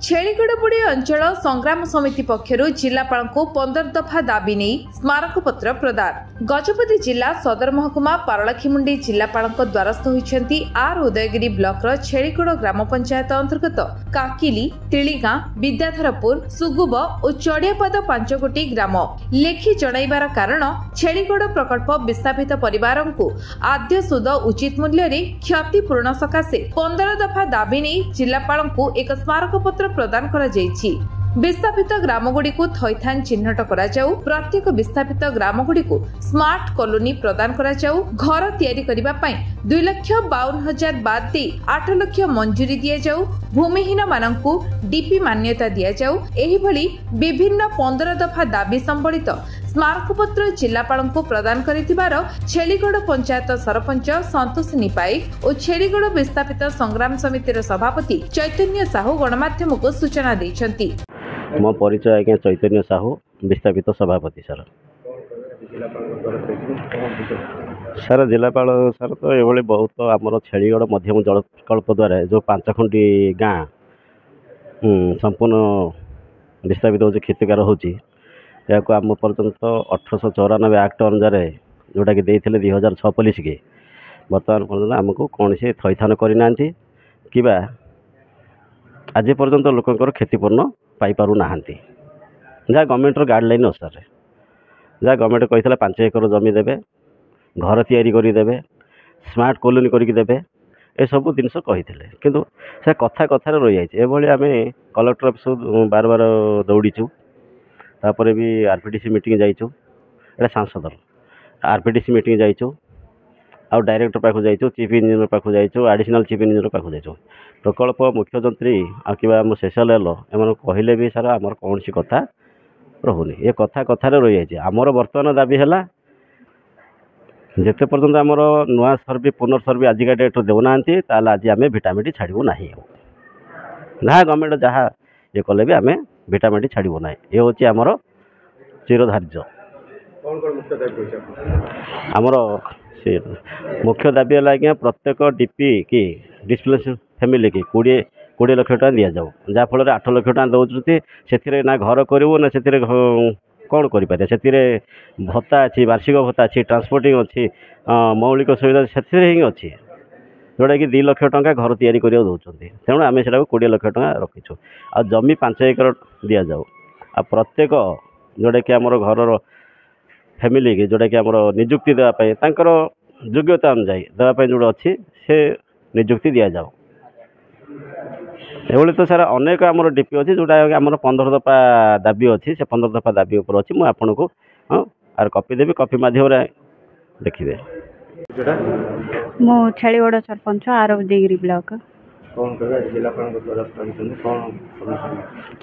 ଛେଳିଗଡ଼ବୁଡ଼ି ଅଞ୍ଚଳ ସଂଗ୍ରାମ ସମିତି ପକ୍ଷରୁ ଜିଲ୍ଲାପାଳଙ୍କୁ 15 ଦଫା ଦାବି ନେଇ ସ୍ମାରକପତ୍ର ପ୍ରଦାନ। ଗଜପତି ଜିଲ୍ଲା ସଦର ମହକୁମା ପାରଳାଖେମୁଣ୍ଡି ଜିଲ୍ଲାପାଳଙ୍କ ଦ୍ୱାରସ୍ଥ ହୋଇଛନ୍ତି ଆର୍ ଉଦୟଗିରି ବ୍ଲକର ଛେଳିଗଡ଼ ଗ୍ରାମ ପଞ୍ଚାୟତ ଅନ୍ତର୍ଗତ କାକିଲି, ତିଳିଗାଁ, ବିଦ୍ୟାଧରପୁର, ସୁଗୁବ ଓ ଚଡ଼ିଆପାଦ 5 ଗୋଟି ଗ୍ରାମ। ଲେଖି ଜଣାଇବାର କାରଣ, ଛେଳିଗଡ଼ ପ୍ରକଳ୍ପ ବିସ୍ଥାପିତ ପରିବାରଙ୍କୁ ଆଦ୍ୟ ସୁଧ ଉଚିତ ମୂଲ୍ୟରେ କ୍ଷତିପୂରଣ ସକାଶେ 15 ଦଫା ଦାବି ନେଇ ଜିଲ୍ଲାପାଳଙ୍କୁ ଏକ ସ୍ମାରକପତ୍ର ପ୍ରଦାନ କରାଯାଇଛି। ବିସ୍ଥାପିତ ଗ୍ରାମଗୁଡ଼ିକୁ ଥଇଥାନ ଚିହ୍ନଟ କରାଯାଉ, ପ୍ରତ୍ୟେକ ବିସ୍ଥାପିତ ଗ୍ରାମଗୁଡ଼ିକୁ ସ୍ମାର୍ଟ କଲୋନୀ ପ୍ରଦାନ କରାଯାଉ, ଘର ତିଆରି କରିବା ପାଇଁ 2,52,000 ବାଦ ଦେଇ 8 ଲକ୍ଷ ମଞ୍ଜୁରୀ ଦିଆଯାଉ, ଭୂମିହୀନମାନଙ୍କୁ ଡିପି ମାନ୍ୟତା ଦିଆଯାଉ। ଏହିଭଳି ବିଭିନ୍ନ 15 ଦଫା ଦାବି ସମ୍ବଳିତ ସ୍ମାରକପତ୍ର ଜିଲ୍ଲାପାଳଙ୍କୁ ପ୍ରଦାନ କରିଥିବାର ଛେଳିଗଡ଼ ପଞ୍ଚାୟତ ସରପଞ୍ଚ ସନ୍ତୋଷିନୀ ପାଇକ ଓ ଛେଳିଗଡ଼ ବିସ୍ଥାପିତ ସଂଗ୍ରାମ ସମିତିର ସଭାପତି ଚୈତନ୍ୟ ସାହୁ ଗଣମାଧ୍ୟମକୁ ସୂଚନା ଦେଇଛନ୍ତି। ମୋ ପରିଚୟ ଆଜ୍ଞା ଚୈତନ୍ୟ ସାହୁ, ବିସ୍ଥାପିତ ସଭାପତି। ସାର୍, ସାର୍, ଜିଲ୍ଲାପାଳ ସାର୍, ତ ଏଭଳି ବହୁତ ଆମର ଛେଳିଗଡ଼ ମଧ୍ୟମ ଜଳ ପ୍ରକଳ୍ପ ଦ୍ୱାରା ଯେଉଁ 5 ଖଣ୍ଡି ଗାଁ ସମ୍ପୂର୍ଣ୍ଣ ବିସ୍ଥାପିତ ହେଉଛି, କ୍ଷତିକାର ହେଉଛି, ଏହାକୁ ଆମ ପର୍ଯ୍ୟନ୍ତ 1894 ଆକ୍ଟ ଅନୁସାରେ ଯେଉଁଟାକି ଦେଇଥିଲେ 2006 ପଲିସିକି, ବର୍ତ୍ତମାନ ପର୍ଯ୍ୟନ୍ତ ଆମକୁ କୌଣସି ଥଇଥାନ କରିନାହାନ୍ତି କିମ୍ବା ଆଜି ପର୍ଯ୍ୟନ୍ତ ଲୋକଙ୍କର କ୍ଷତିପୂରଣ ପାଇପାରୁନାହାନ୍ତି। ଯାହା ଗଭର୍ଣ୍ଣମେଣ୍ଟର ଗାଇଡ଼ଲାଇନ୍ ଅନୁସାରେ, ଯାହା ଗଭର୍ଣ୍ଣମେଣ୍ଟ କହିଥିଲା 5 ଏକର ଜମି ଦେବେ, ଘର ତିଆରି କରିଦେବେ, ସ୍ମାର୍ଟ କଲୋନୀ କରିକି ଦେବେ, ଏସବୁ ଜିନିଷ କହିଥିଲେ, କିନ୍ତୁ ସେ କଥା କଥାରେ ରହିଯାଇଛି। ଏଭଳି ଆମେ କଲେକ୍ଟର ଅଫିସ ବାର ବାର ଦୌଡ଼ିଛୁ, ତାପରେ ବି R P D C meeting ଯାଇଛୁ, ଏଇଟା ସାଂସଦର R P D C meeting ଯାଇଛୁ, ଆଉ ଡାଇରେକ୍ଟର ପାଖକୁ ଯାଇଛୁ, ଚିଫ୍ ଇଞ୍ଜିନିୟର ପାଖକୁ ଯାଇଛୁ, ଆଡ଼ିସନାଲ୍ ଚିଫ୍ ଇଞ୍ଜିନିୟର ପାଖକୁ ଯାଇଛୁ। ପ୍ରକଳ୍ପ ମୁଖ୍ୟ ଯନ୍ତ୍ରୀ ଆଉ କିମ୍ବା ଆମ ସ୍ପେଶାଲ୍ ଏଲ୍ ଏମାନଙ୍କୁ କହିଲେ ବି ସାର୍ ଆମର କୌଣସି କଥା ରହୁନି, ଏ କଥା କଥାରେ ରହିଯାଇଛି। ଆମର ବର୍ତ୍ତମାନ ଦାବି ହେଲା, ଯେତେ ପର୍ଯ୍ୟନ୍ତ ଆମର ନୂଆ ସର୍ଭେ, ପୁନର୍ ସର୍ଭେ ଆଜିକା ଡେଟ୍ରେ ଦେଉନାହାନ୍ତି, ତାହେଲେ ଆଜି ଆମେ ଭିଟାମାଟି ଛାଡ଼ିବୁ ନାହିଁ। ଆଉ ଯାହା ଗଭର୍ଣ୍ଣମେଣ୍ଟ ଯାହା ଇଏ କଲେ ବି ଆମେ ଭିଟାମାଟି ଛାଡ଼ିବୁ ନାହିଁ। ଏ ହେଉଛି ଆମର ଚିରଧାର୍ଯ୍ୟ। ଆମର ସେ ମୁଖ୍ୟ ଦାବି ହେଲା ଆଜ୍ଞା, ପ୍ରତ୍ୟେକ ଡି ପି କି ଡିସପ୍ଲେସ୍ ଫ୍ୟାମିଲି କି 20 ଲକ୍ଷ ଟଙ୍କା ଦିଆଯାଉ। ଯାହାଫଳରେ 8 ଲକ୍ଷ ଟଙ୍କା ଦେଉଛନ୍ତି, ସେଥିରେ ନା ଘର କରିବୁ ନା ସେଥିରେ କ'ଣ କରିପାରିବା? ସେଥିରେ ଭତ୍ତା ଅଛି, ବାର୍ଷିକ ଭତ୍ତା ଅଛି, ଟ୍ରାନ୍ସପୋର୍ଟିଂ ଅଛି, ମୌଳିକ ସୁବିଧା ସେଥିରେ ହିଁ ଅଛି, ଯେଉଁଟାକି 2 ଲକ୍ଷ ଟଙ୍କା ଘର ତିଆରି କରିବାକୁ ଦେଉଛନ୍ତି। ତେଣୁ ଆମେ ସେଟାକୁ 20 ଲକ୍ଷ ଟଙ୍କା ରଖିଛୁ। ଆଉ ଜମି 5 ଏକର ଦିଆଯାଉ, ଆଉ ପ୍ରତ୍ୟେକ ଯେଉଁଟାକି ଆମର ଘରର ଫ୍ୟାମିଲିକି ଯେଉଁଟାକି ଆମର ନିଯୁକ୍ତି ଦେବା ପାଇଁ, ତାଙ୍କର ଯୋଗ୍ୟତା ଅନୁଯାୟୀ ଦେବା ପାଇଁ ଯେଉଁଟା ଅଛି ସେ ନିଯୁକ୍ତି ଦିଆଯାଉ। ଏଭଳି ତ ସାର୍ ଅନେକ ଆମର ଡି ପି ଅଛି, ଯେଉଁଟା ଆମର 15 ଦଫା ଦାବି ଅଛି। ସେ 15 ଦଫା ଦାବି ଉପରେ ଅଛି। ମୁଁ ଆପଣଙ୍କୁ ହଁ ଆର କପି ଦେବି, କପି ମାଧ୍ୟମରେ ଦେଖିବେ। ମୁଁ ଛେଳିଗଡ଼ ସରପଞ୍ଚ, ଆର ଉଦୟଗିରି ବ୍ଲକ।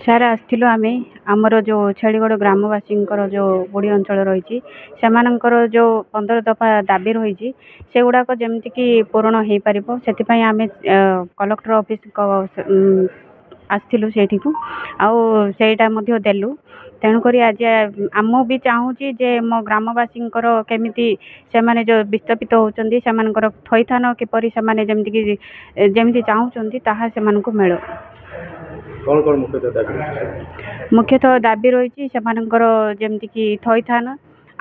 ସାର୍, ଆସିଥିଲୁ ଆମେ ଆମର ଯେଉଁ ଛେଳିଗଡ଼ ଗ୍ରାମବାସୀଙ୍କର ଯେଉଁ ବୁଡ଼ି ଅଞ୍ଚଳ ରହିଛି, ସେମାନଙ୍କର ଯେଉଁ 15 ଦଫା ଦାବି ରହିଛି, ସେଗୁଡ଼ାକ ଯେମିତିକି ପୂରଣ ହେଇପାରିବ, ସେଥିପାଇଁ ଆମେ କଲେକ୍ଟର ଅଫିସଙ୍କ ଆସିଥିଲୁ ସେଇଠିକୁ, ଆଉ ସେଇଟା ମଧ୍ୟ ଦେଲୁ। ତେଣୁକରି ଆଜି ମୁଁ ବି ଚାହୁଁଛି ଯେ ମୋ ଗ୍ରାମବାସୀଙ୍କର କେମିତି ସେମାନେ ଯେଉଁ ବିସ୍ଥାପିତ ହେଉଛନ୍ତି, ସେମାନଙ୍କର ଥଇଥାନ କିପରି, ସେମାନେ ଯେମିତିକି ଯେମିତି ଚାହୁଁଛନ୍ତି ତାହା ସେମାନଙ୍କୁ ମିଳୁ। ମୁଖ୍ୟତଃ ଦାବି ରହିଛି ସେମାନଙ୍କର ଯେମିତିକି ଥଇଥାନ,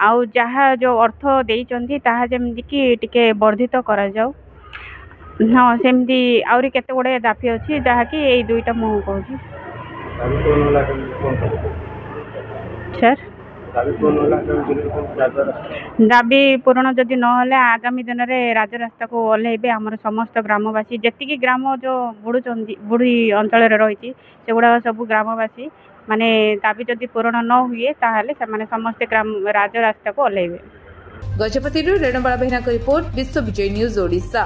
ଆଉ ଯାହା ଯେଉଁ ଅର୍ଥ ଦେଇଛନ୍ତି ତାହା ଯେମିତିକି ଟିକେ ବର୍ଦ୍ଧିତ କରାଯାଉ। ହଁ, ସେମିତି ଆହୁରି କେତେ ଗୁଡ଼ିଏ ଦାବି ଅଛି, ଯାହାକି ଏଇ ଦୁଇଟା ମୁଁ କହୁଛି। ସାର୍, ଦାବି ପୂରଣ ଯଦି ନହେଲେ ଆଗାମୀ ଦିନରେ ରାଜରାସ୍ତାକୁ ଓହ୍ଲେଇବେ ଆମର ସମସ୍ତ ଗ୍ରାମବାସୀ। ଯେତିକି ଗ୍ରାମ ଯେଉଁ ବୁଡ଼ୁଛନ୍ତି, ବୁଡ଼ି ଅଞ୍ଚଳରେ ରହିଛି, ସେଗୁଡ଼ାକ ସବୁ ଗ୍ରାମବାସୀ ମାନେ ଦାବି ଯଦି ପୂରଣ ନ ହୁଏ, ତାହେଲେ ସେମାନେ ସମସ୍ତେ ଗ୍ରାମ ରାଜରାସ୍ତାକୁ ଓହ୍ଲେଇବେ। ଗଜପତିରୁ ରେଣୁବାଳା ବେହେରାଙ୍କ ରିପୋର୍ଟ, ବିଶ୍ୱ ବିଜୟ ନ୍ୟୁଜ୍ ଓଡ଼ିଶା।